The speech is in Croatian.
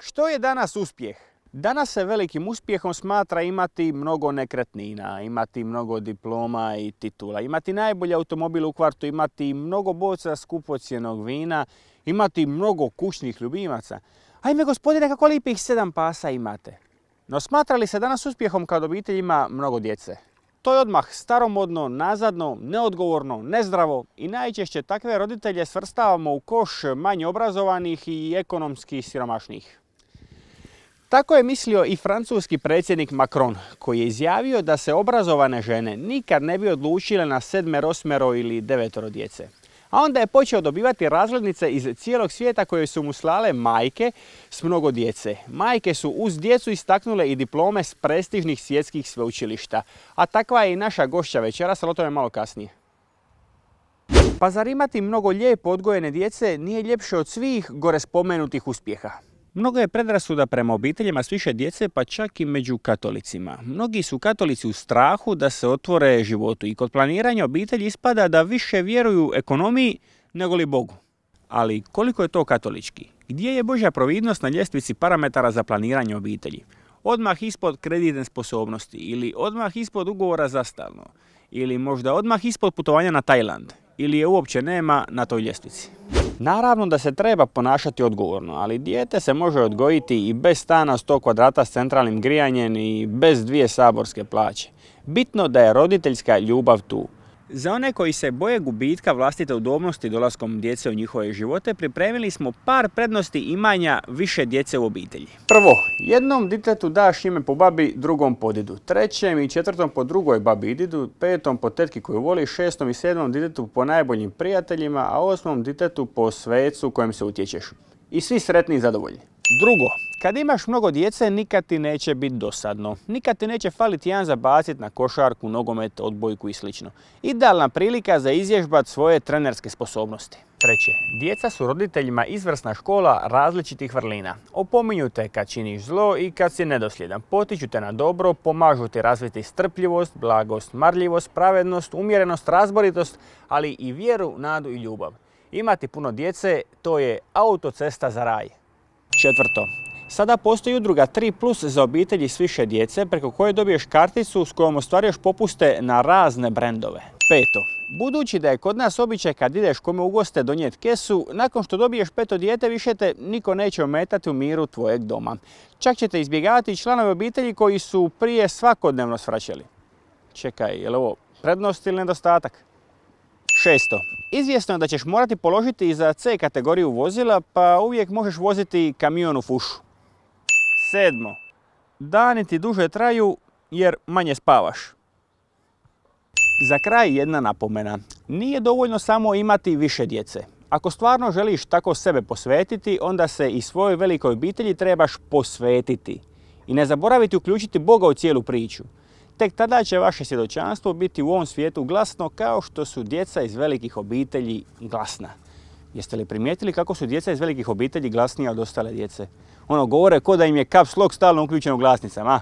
Što je danas uspjeh? Danas se velikim uspjehom smatra imati mnogo nekretnina, imati mnogo diploma i titula, imati najbolji automobil u kvartu, imati mnogo boca skupocjenog vina, imati mnogo kućnih ljubimaca. Ajme gospodine, kako lijepih 7 pasa imate. No smatra li se danas uspjehom kad obitelj ima mnogo djece? To je odmah staromodno, nazadno, neodgovorno, nezdravo i najčešće takve roditelje svrstavamo u koš manje obrazovanih i ekonomski siromašnih. Tako je mislio i francuski predsjednik Macron, koji je izjavio da se obrazovane žene nikad ne bi odlučile na 7, 8 ili 9 djece. A onda je počeo dobivati razglednice iz cijelog svijeta koje su mu slale majke s mnogo djece. Majke su uz djecu istaknule i diplome s prestižnih svjetskih sveučilišta. A takva je i naša gošća večeras, ali o tome malo kasnije. Pa zar imati mnogo lijepo odgojene djece nije ljepše od svih gore spomenutih uspjeha? Mnogo je predrasuda prema obiteljima s više djece, pa čak i među katolicima. Mnogi su katolici u strahu da se otvore životu i kod planiranja obitelji ispada da više vjeruju ekonomiji nego li Bogu. Ali koliko je to katolički? Gdje je Božja providnost na ljestvici parametara za planiranje obitelji? Odmah ispod kreditne sposobnosti ili odmah ispod ugovora za stalno? Ili možda odmah ispod putovanja na Tajland? Ili je uopće nema na toj ljestvici? Naravno da se treba ponašati odgovorno, ali dijete se može odgojiti i bez stana 100 kvadrata s centralnim grijanjem i bez 2 saborske plaće. Bitno da je roditeljska ljubav tu. Za one koji se boje gubitka vlastite udobnosti dolaskom djece u njihove živote, pripremili smo par prednosti imanja više djece u obitelji. Prvo, jednom ditetu daš ime po babi, drugom po didu, trećem i četvrtom po drugoj babi i didu, petom po tetki koju voli, 6. i 7. ditetu po najboljim prijateljima, a 8. ditetu po svecu kojem se utječeš. I svi sretni i zadovoljni. Drugo, kad imaš mnogo djece, nikad ti neće biti dosadno. Nikad ti neće faliti jedan za bacit na košarku, nogomet, odbojku i sl. Idealna prilika za izvježbat svoje trenerske sposobnosti. Treće, djeca su roditeljima izvrsna škola različitih vrlina. Opominju te kad činiš zlo i kad si nedosljedan. Potiču te na dobro, pomažu ti razviti strpljivost, blagost, marljivost, pravednost, umjerenost, razboritost, ali i vjeru, nadu i ljubav. Imati puno djece, to je autocesta za raj. Četvrto, sada postoji udruga 3+ za obitelji s više djece preko koje dobiješ karticu s kojom ostvaruješ popuste na razne brendove. Peto, budući da je kod nas običaj kad ideš kome u goste donijeti kesu, nakon što dobiješ 5. dijete više te niko neće ometati u miru tvojeg doma. Čak ćete izbjegavati članovi obitelji koji su prije svakodnevno svraćali. Čekaj, je li ovo prednost ili nedostatak? Šesto, izvjesno je da ćeš morati položiti i za C kategoriju vozila, pa uvijek možeš voziti kamion u fušu. Sedmo, dani ti duže traju jer manje spavaš. Za kraj jedna napomena. Nije dovoljno samo imati više djece. Ako stvarno želiš tako sebe posvetiti, onda se i svojoj velikoj obitelji trebaš posvetiti. I ne zaboraviti uključiti Boga u cijelu priču. Tek tada će vaše svjedočanstvo biti u ovom svijetu glasno kao što su djeca iz velikih obitelji glasna. Jeste li primijetili kako su djeca iz velikih obitelji glasnija od ostale djece? Govore ko da im je caps lock stalno uključen u glasnicama.